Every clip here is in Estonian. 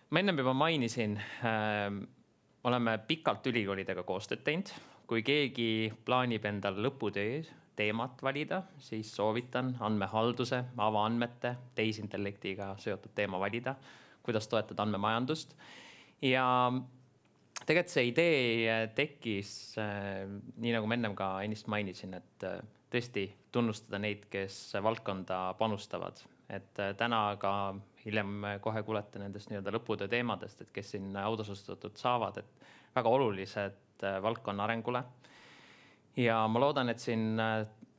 Ma ennem juba mainisin, oleme pikalt ülikoolidega koostööd teinud. Kui keegi plaanib endal lõputöö teemat valida, siis soovitan andmehalduse, avaandmete, tehisintellektiga seotud teema valida, kuidas toetada andmemajandust. Ja tegelikult see idee tekkis, nii nagu ma ennem ka ennist mainisin, et tõesti tunnustada neid, kes valdkonda panustavad. Et täna ka hiljem kohe kuulete nendest lõputöö teemadest, et kes siin autasustatud saavad, et väga olulised valdkonna arengule. Ja ma loodan, et siin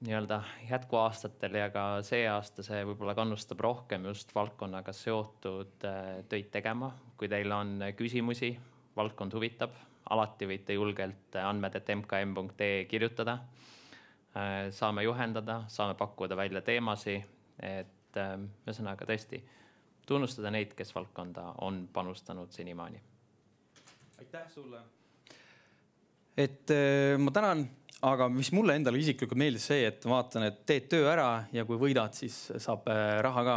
jätkuaastatel ja ka see aasta see võib-olla kannustab rohkem just valdkonnaga seotud töid tegema. Kui teil on küsimusi, valdkond huvitab, alati võite julgelt andmed@mkm.ee kirjutada. Saame juhendada, saame pakkuda välja teemasi, et ühesõnaga tõesti tunnustada neid, kes valdkonda on panustanud senimaani. Aitäh sulle. Et ma tänan, aga mis mulle endale isiklikult meeldis see, et vaatan, et teed töö ära ja kui võidad, siis saab raha ka.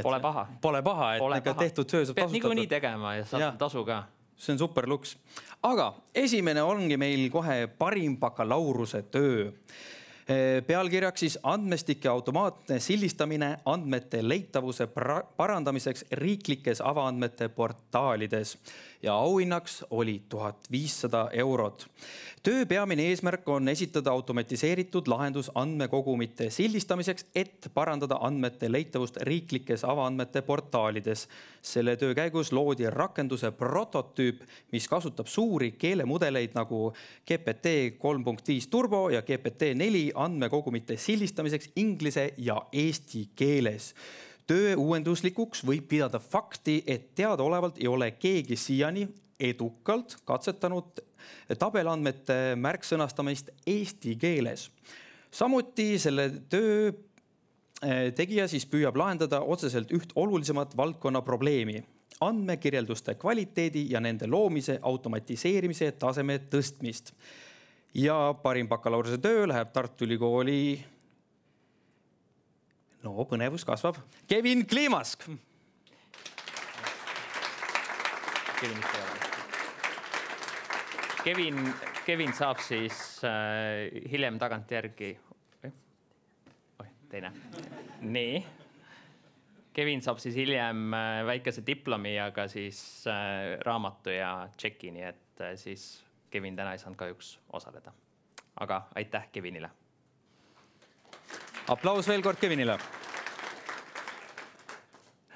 Pole paha. Pole paha, et tehtud töö saab tasutada. Niikuinii tegema ja saab tasu ka. See on super luks. Aga esimene ongi meil kohe parim bakalaureuse töö. Pealkirjaks siis andmestike automaatne sildistamine andmete leitavuse parandamiseks riiklikes avaandmete portaalides ja auhinnaks oli 1500 €. Töö peamine eesmärk on esitada automatiseeritud lahendus andmekogumite sildistamiseks, et parandada andmete leitavust riiklikes avaandmete portaalides. Selle töö käigus loodi rakenduse prototüüp, mis kasutab suuri keelemudeleid nagu GPT 3.5 Turbo ja GPT-4 andmekogumite sildistamiseks inglise ja eesti keeles. Töö uuenduslikuks võib pidada fakti, et teadaolevalt ei ole keegi siiani edukalt katsetanud tabelandmete märksõnastamist eesti keeles. Samuti selle töö tegija siis püüab lahendada otseselt üht olulisemat valdkonna probleemi: andmekirjelduste kvaliteedi ja nende loomise automatiseerimise taseme tõstmist. Ja parim bakalaureuse töö läheb Tartu Ülikooli, põnevus kasvab, Kevin Kliimask. Kevin saab siis hiljem tagantjärgi. Teine. Nii. Kevin saab siis hiljem väikese diplomi ja ka siis raamatu ja tšeki, nii et siis Kevin täna ei saanud kahjuks osaleda. Aga aitäh Kevinile. Aplaus veel kord Kevinile.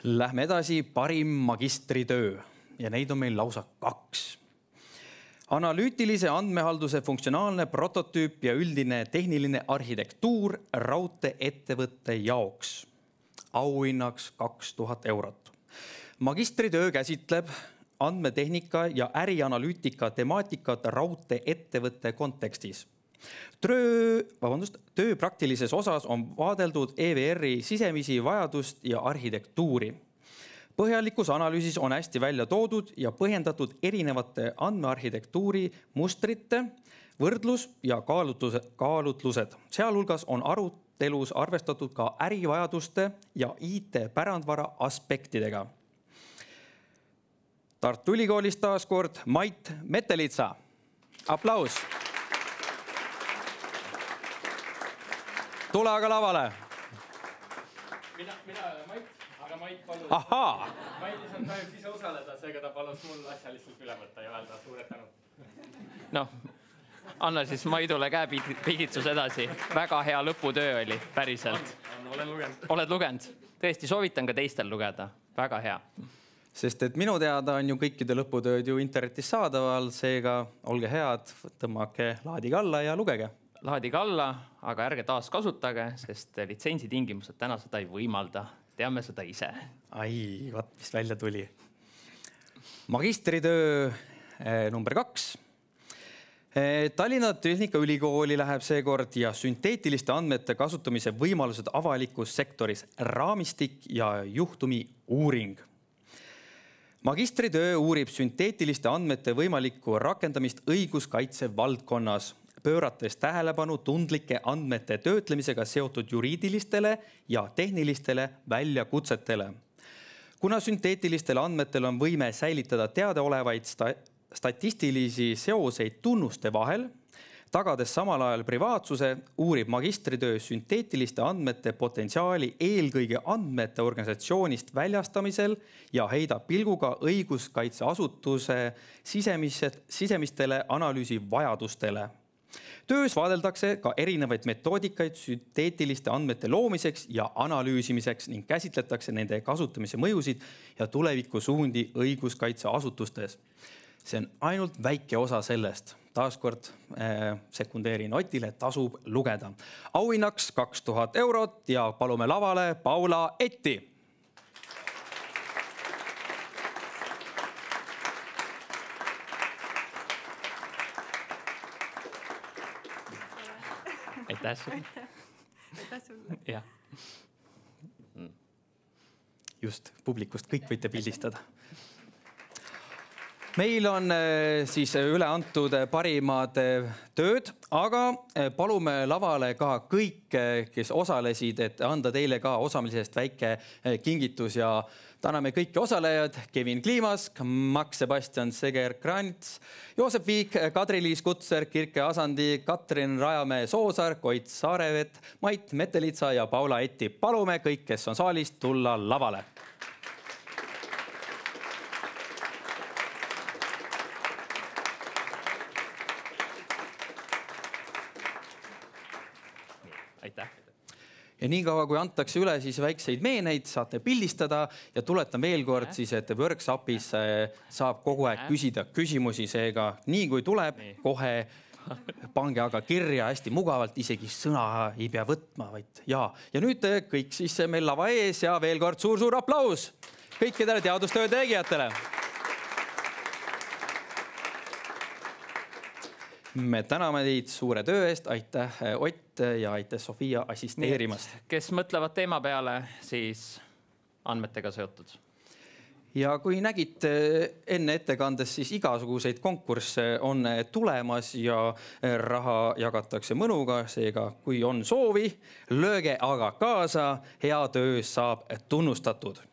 Lähme edasi, parim magistritöö ja neid on meil lausa 2. Analüütilise andmehalduse funktsionaalne prototüüp ja üldine tehniline arhitektuur raudteeettevõtte jaoks. Auhinnaks 2000 €. Magistritöö käsitleb andmetehnika ja ärianalüütika temaatikat raudteeettevõtte kontekstis. Töö praktilises osas on vaadeldud EVR-i sisemisi vajadust ja arhitektuuri. Põhjalikus analüüsis on hästi välja toodud ja põhjendatud erinevate andmearhitektuuri mustrite võrdlus ja kaalutlused. Sealhulgas on arutelus arvestatud ka ärivajaduste ja IT-pärandvara aspektidega. Tartu Ülikoolist taas kord Mait Metelitsa. Aplaus. Tule aga lavale. Mina Mait, aga Mait palus. Ahaa. Mait ei saanud kahjuks ise osaleda, seega ta palus mul asja lihtsalt üle võtta ja öelda suured tänu. Anna siis Maidule käepigitsus edasi. Väga hea lõputöö oli, päriselt. Olen lugenud. Oled lugenud? Tõesti, soovitan ka teistel lugeda. Väga hea. Sest et minu teada on ju kõikide lõputööd ju internetis saadaval, seega olge head, tõmmake laadige alla ja lugege. Laadige alla, aga ärge taas kasutage, sest litsentsitingimused täna seda ei võimalda. Teame seda ise. Ai, vaat mis välja tuli. Magistritöö number 2. Tallinna Tehnikaülikooli läheb seekord ja sünteetiliste andmete kasutamise võimalused avalikus sektoris, raamistik ja juhtumi uuring. Magistritöö uurib sünteetiliste andmete võimalikku rakendamist õiguskaitse valdkonnas, pöörates tähelepanu tundlike andmete töötlemisega seotud juriidilistele ja tehnilistele väljakutsetele. Kuna sünteetilistel andmetel on võime säilitada teadaolevaid statistilisi seoseid tunnuste vahel, tagades samal ajal privaatsuse, uurib magistritöö sünteetiliste andmete potentsiaali eelkõige andmete organisatsioonist väljastamisel ja heidab pilguga õiguskaitseasutuse sisemistele analüüsi vajadustele. Töös vaadeldakse ka erinevaid metoodikaid sünteetiliste andmete loomiseks ja analüüsimiseks ning käsitletakse nende kasutamise mõjusid ja tulevikusuundi õiguskaitseasutustes. See on ainult väike osa sellest. Taaskord sekundeerin Otile, tasub lugeda. Auhinnaks 2000 eurot ja palume lavale Paula Etti. Aitäh sulle. Aitäh sulle. Jah. Just, publikust kõik võite pildistada. Meil on siis üle antud parimad tööd, aga palume lavale ka kõik, kes osalesid, et anda teile ka osalemisest väike kingitus ja täname kõiki osalejad, Kevin Kliimask, Max Sebastian Seger-Krants, Joosep Viik, Kadri-Liis Kutser, Kirke Asandi, Katrin Rajamäe-Soosaar, Koit Saarevet, Mait Metelitsa ja Paula Etti. Palume kõik, kes on saalist, tulla lavale. Aitäh. Ja nii kaua, kui antakse üle siis väikseid meeneid, saate pildistada ja tuletan veel kord siis, et workshopis saab kogu aeg küsida küsimusi, seega nii kui tuleb, kohe pange aga kirja hästi mugavalt, isegi sõna ei pea võtma, vaid ja nüüd kõik siis meil lava ees ja veel kord suur aplaus kõikidele teadustöö tegijatele. Me täname teid suure töö eest, aitäh Ott ja aitäh Sofia assisteerimast. Kes mõtlevad teema peale, siis andmetega seotud. Ja kui nägite enne ettekandes, siis igasuguseid konkursse on tulemas ja raha jagatakse mõnuga, seega kui on soovi, lööge aga kaasa, hea töö saab tunnustatud.